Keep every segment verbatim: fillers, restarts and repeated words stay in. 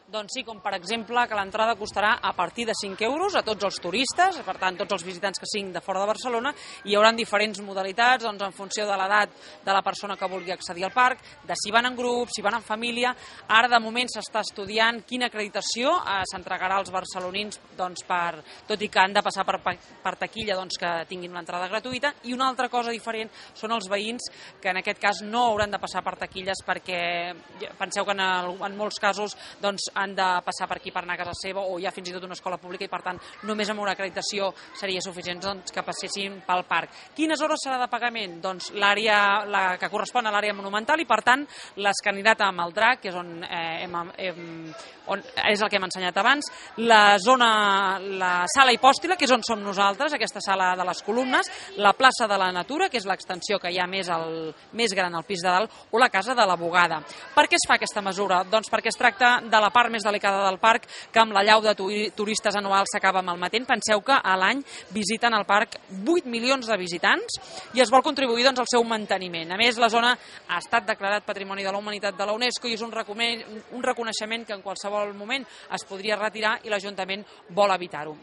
Doncs sí, com per exemple que l'entrada costarà a partir de cinc euros a tots els turistes, per tant tots els visitants que siguin de fora de Barcelona, i hi haurà diferents modalitats doncs, en funció de l'edat de la persona que vulgui accedir al parc, de si van en grup, si van en família. Ara de moment s'està estudiant quina acreditació eh, s'entregarà als barcelonins, doncs, per, tot i que han de passar per, per taquilla doncs, que tinguin l'entrada gratuïta. I una altra cosa diferent són els veïns, que en aquest cas no hauran de passar per taquilles, perquè penseu que en, el, en molts casos doncs, han de passar per aquí per anar a casa seva, o hi ha fins i tot una escola pública, i per tant només amb una acreditació seria suficient doncs, que passessin pel parc. Quines hores serà de pagament? Doncs l'àrea la que correspon a l'àrea monumental, i per tant l'escalinata amb el drac, que és on, eh, hem, hem, on és el que hem ensenyat abans, la zona, la sala hipòstila, que és on som nosaltres, aquesta sala de les columnes, la plaça de la Natura, que és l'extensió que hi ha més, al, més gran al pis de dalt, o la casa de la Bogada. Per què es fa aquesta mesura? Doncs perquè es tracta de la part més delicada del parc, que amb la llau de turistes anuals s'acaba malmetent. Penseu que a l'any visiten el parc vuit milions de visitants i es vol contribuir doncs, al seu manteniment. A més, la zona ha estat declarat Patrimoni de la Humanitat de la UNESCO i és un, un reconeixement que en qualsevol moment es podria retirar, i l'Ajuntament vol evitar-ho.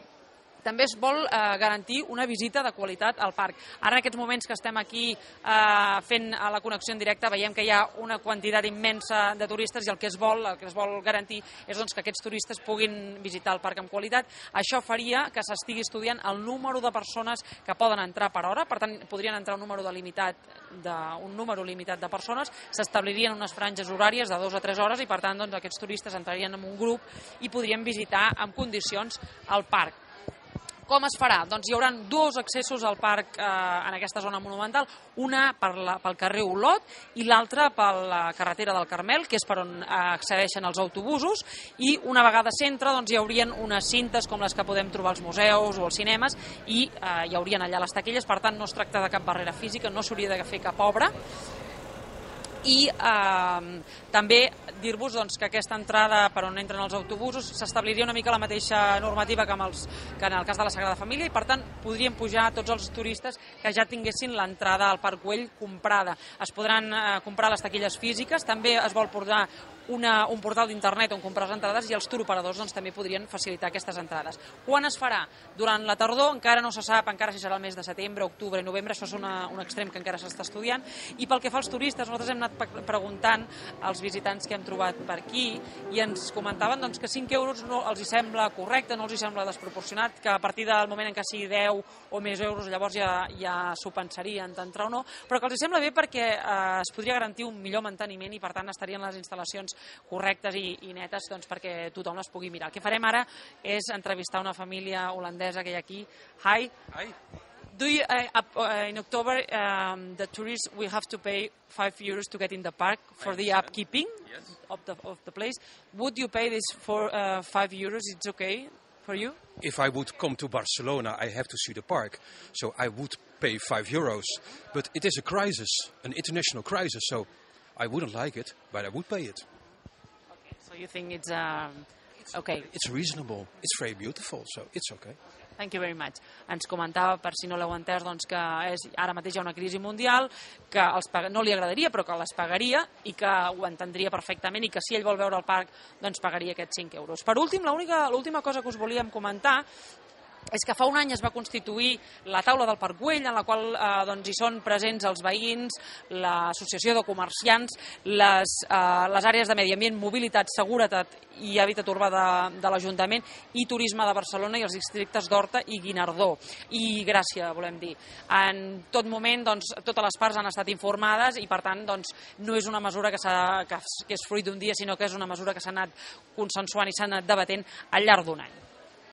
També es vol eh, garantir una visita de qualitat al parc. Ara, en aquests moments que estem aquí eh, fent la connexió en directe, veiem que hi ha una quantitat immensa de turistes, i el que es vol, el que es vol garantir és doncs, que aquests turistes puguin visitar el parc amb qualitat. Això faria que s'estigui estudiant el número de persones que poden entrar per hora, per tant, podrien entrar un número, delimitat de, un número limitat de persones, s'establirien unes franges horàries de dues a tres hores, i per tant doncs, aquests turistes entrarien en un grup i podrien visitar en condicions el parc. Com es farà? Doncs hi haurà dos accessos al parc eh, en aquesta zona monumental, una per la, pel carrer Olot i l'altra per la carretera del Carmel, que és per on eh, accedeixen els autobusos, i una vegada a centre doncs, hi haurien unes cintes com les que podem trobar als museus o als cinemes, i eh, hi haurien allà les taquilles, per tant no es tracta de cap barrera física, no s'hauria de fer cap obra. I eh, també dir-vos doncs, que aquesta entrada per on entren els autobusos s'establiria una mica la mateixa normativa que, amb els, que en el cas de la Sagrada Família, i per tant podrien pujar tots els turistes que ja tinguessin l'entrada al Parc Güell comprada. Es podran eh, comprar les taquilles físiques, també es vol portar una, un portal d'internet on comprar les entrades, i els turoperadors doncs, també podrien facilitar aquestes entrades. Quan es farà? Durant la tardor, encara no se sap, encara si serà el mes de setembre, octubre, novembre, això és una, un extrem que encara s'està estudiant. I pel que fa als turistes, nosaltres hem anat preguntant als visitants que hem trobat per aquí, i ens comentaven doncs, que cinc euros no els hi sembla correcte, no els hi sembla desproporcionat, que a partir del moment en què sigui deu o més euros llavors ja, ja s'ho pensarien d'entrar o no, però que els hi sembla bé perquè eh, es podria garantir un millor manteniment, i per tant estarien les instal·lacions correctes i, i netes doncs, perquè tothom les pugui mirar. El que farem ara és entrevistar una família holandesa que hi ha aquí. Hi. Hi. Do you, uh, uh, in October, um, the tourists will have to pay five euros to get in the park for the upkeeping yes. of, the, of the place. Would you pay this for uh, five euros? It's okay for you? If I would come to Barcelona, I have to see the park, so I would pay five euros. But it is a crisis, an international crisis, so I wouldn't like it, but I would pay it. Okay, so you think it's um, okay? It's reasonable. It's very beautiful, so it's okay. Thank you very much. Ens comentava, per si no l'heu entès, doncs, que és, ara mateix hi ha una crisi mundial, que els pag... no li agradaria, però que les pagaria, i que ho entendria perfectament, i que si ell vol veure el parc, doncs pagaria aquests cinc euros. Per últim, l'última cosa que us volíem comentar és que fa un any es va constituir la taula del Parc Güell, en la qual eh, doncs, hi són presents els veïns, l'associació de comerciants, les, eh, les àrees de medi ambient, mobilitat, seguretat i hàbitat urbà de, de l'Ajuntament, i turisme de Barcelona, i els districtes d'Horta i Guinardó, i Gràcia, volem dir. En tot moment, doncs, totes les parts han estat informades, i per tant doncs, no és una mesura que, que, que és fruit d'un dia, sinó que és una mesura que s'ha anat consensuant i s'ha anat debatent al llarg d'un any.